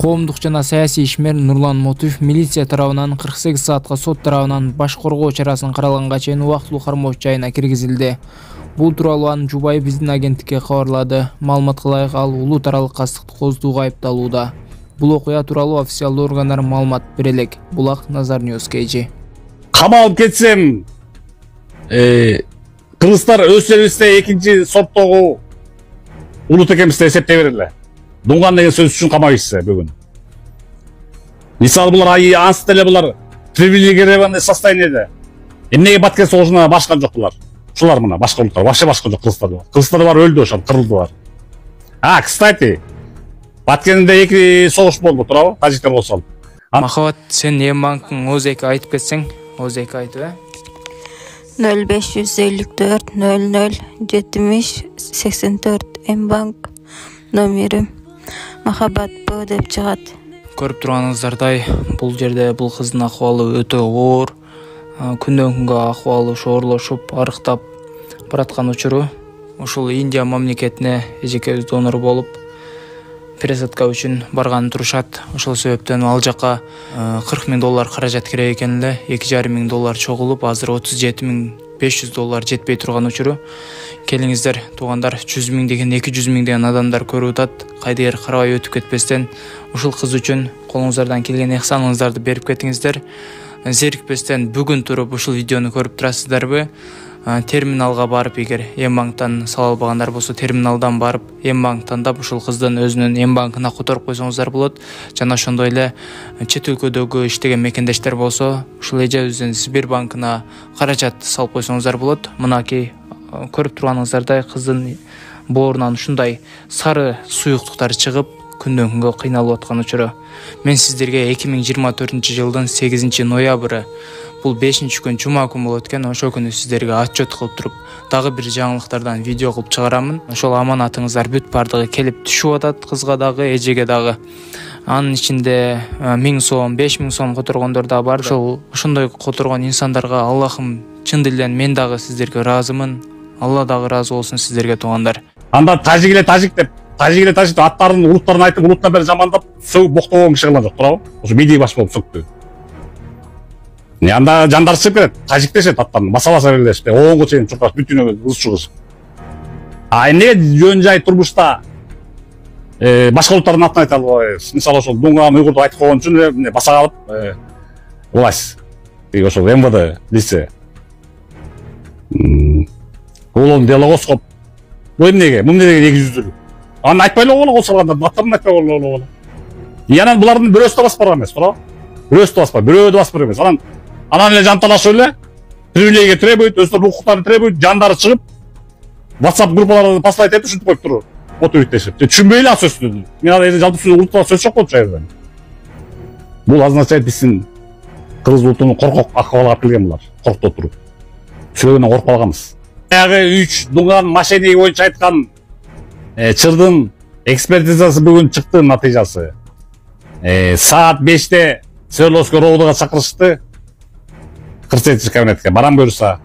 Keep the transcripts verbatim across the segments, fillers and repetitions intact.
Коомдук жана саясий ишмер Нурлан Мотуев милиция тарабынан кырк сегиз саатка, сот тарабынан баш коргоо чарасын каралганга чейин убактылуу кармоо жайына киргизилди. Бул тууралуу анын жубайы биздин агенттикке кабарлады. Маалыматка ылайык ал улуу таралык кастыкты козутууга айыпталууда. Бул окуя тууралуу официалдуу органдар маалымат бере элек. Булак Назар Ньюс Кейжи. Камалып кетсем, э кыргыздар өз элибизде экинчи сорттогу улут экенбизди эсептей берели. Дунган деген сөз үчүн камайсыз бүгүн. Мисалы булар ансыз деле булар привилегированный состояниеде. Эмнеге Баткен согушуна башкан жок булар? Ушулар мына башка улуттар, вообще башка жок кыргыздар бар. Кыргыздар бар өлдү ошол, кырылдылар. А, кстати, Баткенде эки согуш болду, туурабы? Тажиктер болсо. Махабат, сен Эмбанктын О З К айтып кетсең, О З К айтып, э? нөл беш жүз элүү төрт нөл нөл жетимиш сексен төрт Эмбанк номери. Махабат Б деп чыгат. Көрүп турганыңыздардай, бул жерде бул кыздын акыбалы өтө оор. Күндөн күнгө акыбалы ошоорлошуп, арыктап бараткан учуру. Ушул Индия мамлекетине эжекебиз донор болуп, пересадка үчүн барган турушат. Ошол себептен ал жака кырк миң доллар каражат керек экен эле. эки жарым миң доллар чогулуп, азыр отуз жети миң беш жүз доллар жетпей турган учуру. Келиңиздер, туугандар, жүз миң деген, эки жүз миң деген адамдар көрүп атат. Кайдыгер карабай өтүп кетпестен, ушул кыз үчүн колуңуздардан келген ыхсаныңыздарды берип кетиңиздер. Зерикпестен бүгүн туруп ушул видеону көрүп турасыздарбы? Терминалга барып, эгер Эмбанктан сала албагандар болсо, терминалдан барып, Эмбанк тандап ушул кыздын өзүнүн Эмбанкына которуп койсоңуздар болот. Жана ошондой эле чет өлкөдөгү иштеген мекендештер болсо, ушул эжебиздин Сбербанкына каражат салып койсоңуздар болот. Мынакей көрүп турганыңыздардай кыздын боорунан ушундай сары суюктуктар чыгып, күндөн күнгө кыйналып аткан учуру. Мен сиздерге эки миң жыйырма төртүнчү жылдын сегизинчи ноябры, бул бешинчи күн жума күн болот экен, ошол күнү сиздерге отчет кылып туруп, дагы бир жаңылыктардан видео кылып чыгарамын. Ошол аманатыңыздар бүт бардыгы келип түшүп атат, кызга дагы, эжеге дагы. Анын ичинде миң сом, беш миң сом которгондор да бар. Ошол ошондой которгон инсандарга Аллахым чын дилден мен дагы сиздерге ыраазымын. Алла дагы ыраазы болсун сиздерге, туугандар. Анда тажик эле тажик деп, тажик эле тажик деп аттарын, улуттарын айтып, улуттан бери жамандап, сөгүп боктогон киши кылган жок, туурабы? Ошо медиа баш болуп сөктү. Не анда жандар чыгып кетет, тажик дешет аттарын, баса-баса берилешти, оңго чейин чуркаш, бүтүнө ыз чыгыш. А эмнеге жөн жай турмушта э башка улуттардын атын айта албайбыз? Мисалы ошол Дунган, Уйгурду айтып койгон үчүн баса калып, э власть, тиги ошол Эм Вэ Дэ лице. Улон дело козгоп. Бул эмнеге? Бул эмнеге эки жүздүлүк? Аны айтпай эле койгула, козгогандар, аттарын айтпай койгула. И анан булардын бирөөсү да басып барган эмес, туурабы? Бирөөсү да баспай, бирөө да басып барган эмес. Анан анан эле жанталашып эле, привилегия требует, өздөрүнүн укуктарын требует, жандары чыгып, WhatsApp группаларына постать этип ушинтип коюп туруп, отуриттешип. Түшүнбөй эле ал сөздү. Мен аны жалпы сөз улутта сөз жок болчу айрда. Бул означает биздин кыргыз улутунун коркок акыбалга алып келген булар, коркуп туруп. Сөйлөгөндөн коркуп калганбыз. Баягы үч Дунган мошенник боюнча айткан чырдын экспертизасы бүгүн чыкты, натыйжасы. Э саат беште Свердловский РОВДга чакырышты. кырк сегизинчи кабинетке барам буюрса.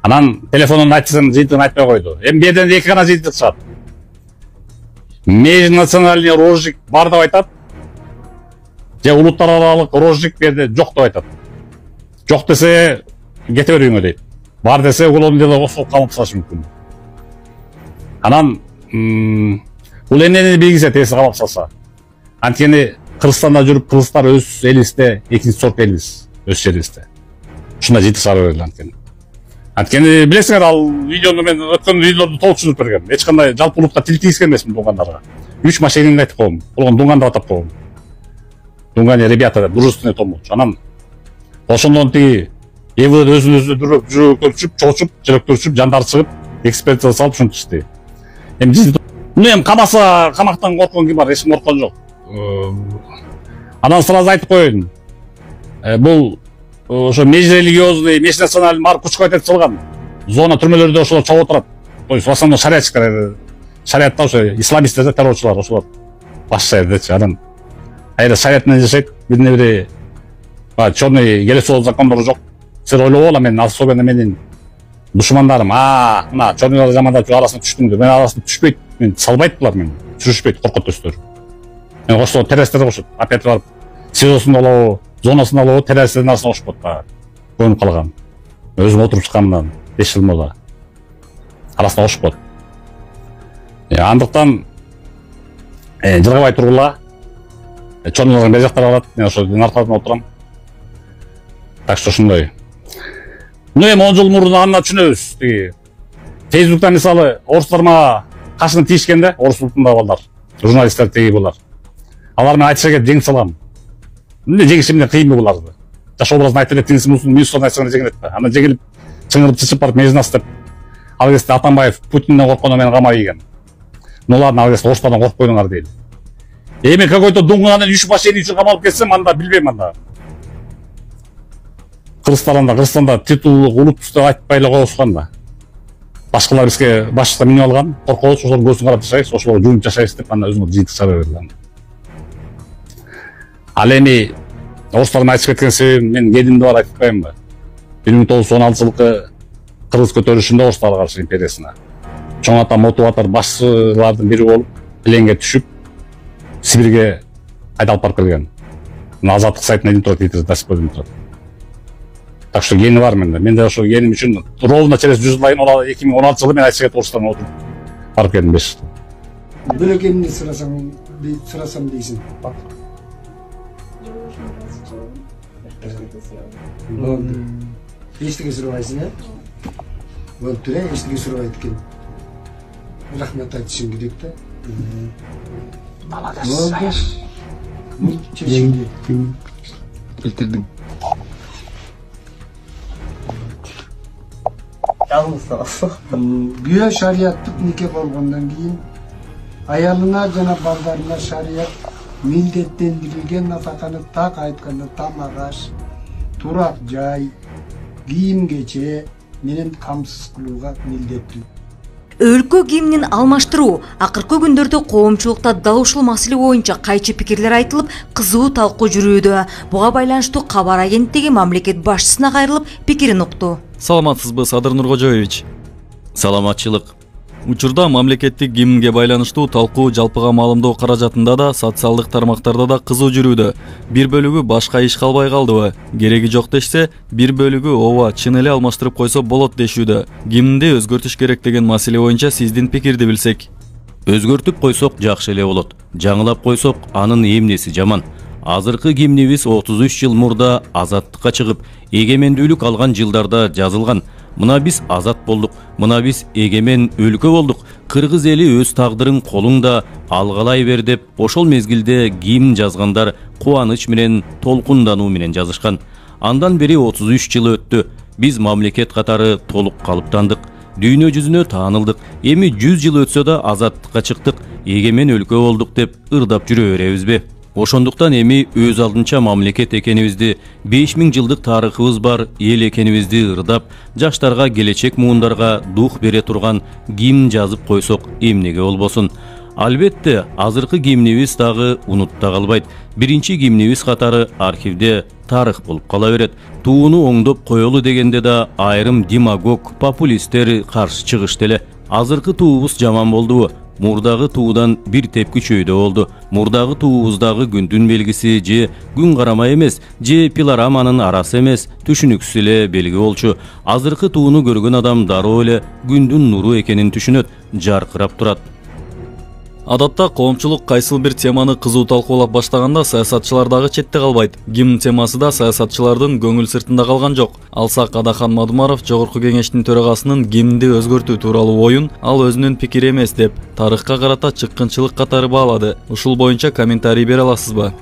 Анан телефонун айтсын, жыйынтыгын айтпай койду. Эми берден эки гана жыйынтык чыгат. Межнациональный розжиг бар деп айтат. Же улуттар аралык розжиг берде жок деп айтат. Жок десе кете бериңер дейт. Бар десе улон дело козгоп камап салышы мүмкүн. Анан бул эмнени белгисе теси камап салса. Анткени Кыргызстанда жүрүп, кыргыздар өз элибизде экинчи сорт элбиз, өз жерибизде. Ушундай жыйынтык чыгара берели анткени. Анткени билесиңер, ал видеону мен өткөн видеолорду толук түшүнүп бергем. Эч кандай жалпы улутка тил тийгизген эмесмин Дунгандарга. Үч мошенникти айтып койгом. Болгон Дунган деп атап койгом. Дунган ребята деп, дружественный том болчу. Анан ошондон тиги Эм Вэ Дэ өзүн өзү дүрөп, жүрөктөрчүп, чоочуп, жүрөктөрчүп, жандар чыгып, экспертиза салып ушинтишти. Эми муну эми камаса, камактан корккон ким бар? Эч ким корккон жок. Анан сразу айтып коеюн. Бул ошо межрелигиозный, межнациональный бар күчкө айтып чылган зона түрмөлөрдө ошолор чогуу турат. То есть в основном шариатчиктер, шариатта ошо исламисттер, террорчулар ошолор баш жердечи. Анан айда шариат менен жашайт, бирине бири чёрный келесоо закондору жок. Сен ойлогола, мен особенно менин душмандарым, а, мына чорныларды жамандап арасына түштүм деп. Мен арасына түшпөйт, мен салбайт булар, мен түшүшпөйт, коркот өстөр. Мен ошто террастерде кошот. Опять барып СИЗОсун алабы, зонасын алабы, террастердин арасына кошуп коет дагы. Көнүп калган. Өзүм отуруп чыкканымдан беш жыл болду. Арасына кошуп коет. Андыктан жылгабай тургула. Чоңдордон бер жактар алат. Мен ошо артасында отурам. Так что ушундай. Ну эми он жыл мурун аны түшүнөбүз. Тиги Facebook'та мисалы орустар мага кашыны тийишкен да, орус улутунда балдар. Журналисттер тиги булар. Алар менен айтыша келип жеңип салгам. Эмне жеңишим менен кыйынбы буларды? Жаш образын айтып эле тиңсин мусун мюстон айтсаң жеңилет да. Анда жеңилип чыңырып чычып барып мезнас деп. Ал кезде Атамбаев Путинден корккондо менен кама ийген. Нолардын ал кезде орустардан коркпойдуңар дейли. Эми какой-то дуңганын үч башени үчүн камалып кетсем, анда билбейм анда. Кыргызстанда, Кыргызстанда титулдук улут деп айтпай эле коюшкан да. Башкалар бизге башчыга минип алган, коркобуз, ошолор көзүн карап жашайбыз, ошолорго жуунуп жашайбыз деп анда өзүңөр жыйынтык чыгара бергиле. Ал эми орустардын айтып кеткен себебин мен генимде бар айтып коеюнбу? бир миң тогуз жүз он алтынчы жылкы Кыргыз көтөрүлүшүндө орустарга каршы империясына чоң ата мотиватор башчылардын бири болуп, пленге түшүп, Сибирге айдалып барып келген. Азаттык сайтына дейин турат, Твиттерде жазып койдум турат. Так что гени бар менде. Менде ошо геним үчүн ровно через жүз жылдан кийин эки миң он алтынчы жылы мен айтып кетип орустарга отуруп барып келдим беш жыл. Бөлөкемди сурасаң, сурасам дейсиң. Болду. Эчтеке сурабайсың, э? Болуп тур, э? Эчтеке сурабайт экен. Рахмат айтышың керек да. Болду. Бул чечимди келтирдиң. Күйөө шариаттык нике болгондон кийин аялына жана балдарына шарият милдеттендирилген нафаканы так айтканда тамак аш, турак жай, кийим кече менен камсыз кылууга милдеттүү. Өлкө гимнин алмаштыруу акыркы күндөрдө коомчулукта дал ушул маселе боюнча кайчы пикирлер айтылып, кызуу талкуу жүрүүдө. Буга байланыштуу кабар агенттиги мамлекет башчысына кайрылып пикирин укту. Саламатсызбы, Садыр Нуркожоевич? Саламатчылык. Учурда мамлекеттик гимнге байланыштуу талкуу жалпыга маалымдоо каражатында да, социалдык тармактарда да кызуу жүрүүдө. Бир бөлүгү башка иш калбай калдыбы? Кереги жок дешсе, бир бөлүгү ооба, чын эле алмаштырып койсо болот дешүүдө. Гимнди өзгөртүш керек деген маселе боюнча сиздин пикирди билсек. Өзгөртүп койсок жакшы эле болот. Жаңылап койсок анын эмнеси жаман? Азыркы гимнибиз отуз үч жыл мурда азаттыкка чыгып, эгемендүүлүк алган жылдарда жазылган. Мына биз азат болдук, мына биз эгемен өлкө болдук. Кыргыз эли өз тагдырын колуңда алгалай бер деп ошол мезгилде гимн жазгандар кубаныч менен, толкундануу менен жазышкан. Андан бери отуз үч жыл өттү. Биз мамлекет катары толук калыптандык. Дүйнө жүзүнө таанылдык. Эми жүз жыл өтсө да азаттыкка чыктык, эгемен өлкө болдук деп ырдап жүрө беребизби? Ошондуктан эми өз алдынча мамлекет экенибизди, беш миң жылдык тарыхыбыз бар эл экенибизди ырдап, жаштарга, келечек муундарга дух бере турган гимн жазып койсок эмнеге болбосун? Албетте, азыркы гимнибиз дагы унутта калбайт. Биринчи гимнибиз катары архивде тарых болуп кала берет. Тууну оңдоп коелу дегенде да айрым демагог, популисттер каршы чыгышты эле. Азыркы туубуз жаман болдубу? Мурдагы туудан бир тепкичөйдө болду. Мурдагы туубуздагы күндүн белгиси же күн карама эмес, же пилораманын арасы эмес, түшүнүксүз эле белги болчу. Азыркы тууну көргөн адам дароо эле күндүн нуру экенин түшүнөт, жаркырап турат. Адатта коомчулук кайсыл бир теманы кызуу талкуулап баштаганда саясатчылар дагы четте калбайт. Гимн темасы да саясатчылардын көңүл сыртында калган жок. Алсак Адахан Мадумаров Жогорку кеңештин төрагасынын гимнди өзгөртүү тууралуу оюн ал өзүнүн пикири эмес деп тарыхка карата чыккынчылык катары баалады. Ушул боюнча комментарий бере аласызбы?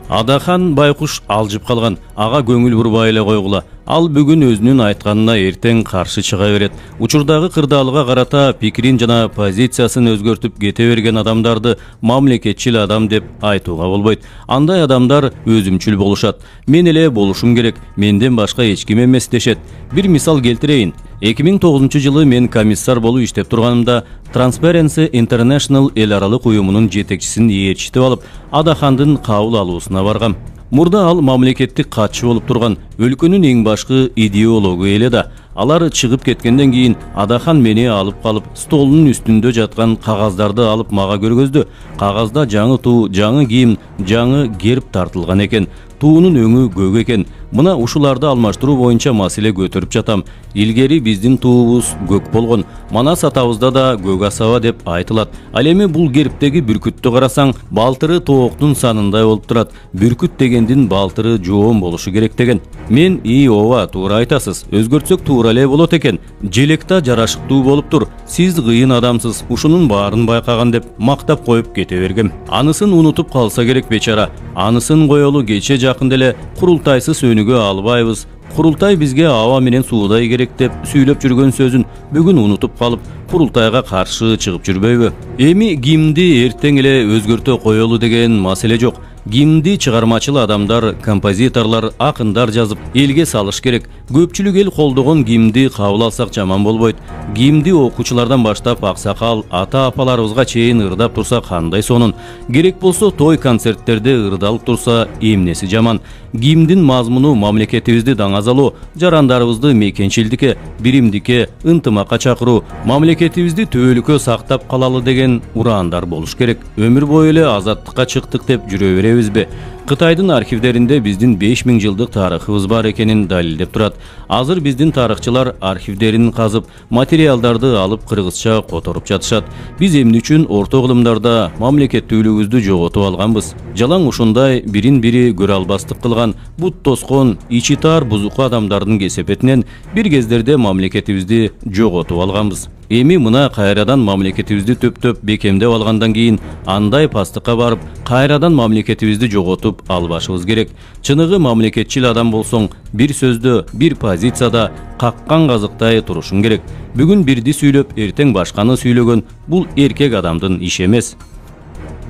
Адахан байкуш алжып калган, ага көңүл бурбай эле койгула. Ал бүгүн өзүнүн айтканына эртең каршы чыга берет. Учурдагы кырдаалыга карата пикирин жана позициясын өзгөртүп кете берген адамдарды мамлекетчил адам деп айтууга болбойт. Андай адамдар өзүмчүл болушат. Мен эле болушум керек, менден башка эч ким эмес дешет. Бир мисал келтирейин. эки миң тогузунчу жылы мен комиссар болуп иштеп турганымда Transparency International эл аралык уюмунун жетекчисин ээрчитип алып, Адахандын кабыл алуусуна баргам. Мурда ал мамлекеттик катчы болуп турган, өлкөнүн эң башкы идеологу эле да. Алар чыгып кеткенден кийин Адахан мени алып калып, столунун үстүндө жаткан кагаздарды алып мага көргөздү. Кагазда жаңы туу, жаңы кийим, жаңы герб тартылган экен. Туунун өңү көк экен. Мына ушуларды алмаштыруу боюнча маселе көтөрүп жатам. Илгери биздин туубуз көк болгон. Манас атабызда да көк асаба деп айтылат. Ал эми бул гербтеги бүркүттү карасаң, балтыры тооктун санындай болуп турат. Бүркүт дегендин балтыры жоон болушу керек деген. Мен и ооба, туура айтасыз. Өзгөртсөк туура эле болот экен. Желекта жарашыктуу болуп тур. Сиз кыйын адамсыз. Ушунун баарын байкаган деп мактап коюп кете бергем. Анысын унутуп калса керек бечара. Анысын коелу кече жакын деле курултайсыз өнүгө албайбыз. Курултай бизге аба менен суудай керек деп сүйлөп жүргөн сөзүн бүгүн унутуп калып, курултайга каршы чыгып жүрбөйбү? Эми гимнди эртең эле өзгөртө коелу деген маселе жок. Гимнди чыгармачыл адамдар, композиторлор, акындар жазып, элге салыш керек. Көпчүлүк эл колдогон гимнди кабыл алсак жаман болбойт. Гимнди окуучулардан баштап аксакал, ата-апаларыбызга чейин ырдап турса кандай сонун. Керек болсо той концерттерде ырдалып турса эмнеси жаман. Гимндин мазмуну мамлекетибизди даңазалоо, жарандарыбызды мекенчилдикке, биримдикке, ынтымакка чакыруу, мамлекетибизди төөлүккө сактап калалы деген ураандар болуш керек. Өмүр бою эле азаттыкка чыктык деп жүрө беребизби? Кытайдын архивдеринде биздин беш миң жылдык тарыхыбыз бар экенин далилдеп турат. Азыр биздин тарыхчылар архивдерин казып, материалдарды алып кыргызча которуп жатышат. Биз эмне үчүн орто кылымдарда мамлекеттүүлүгүбүздү жоготуп алганбыз? Жалаң ушундай бирин-бири көрө албастык кылган, бут тоскон, ичи тар бузуку адамдардын кесепетинен бир кездерде мамлекетибизди жоготуп алганбыз. Эми мына кайрадан мамлекетибизди төптөп бекемдеп алгандан кийин андай пастыкка барып, кайрадан мамлекетибизди жоготуп албашыбыз керек. Чыныгы мамлекетчил адам болсоң, бир сөздө, бир позицияда каккан казыктай турушуң керек. Бүгүн бирди сүйлөп, эртең башканы сүйлөгөн бул эркек адамдын иши эмес.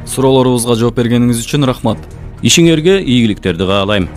Суроолорубузга жооп бергениңиз үчүн рахмат. Ишиңерге ийгиликтерди каалайм.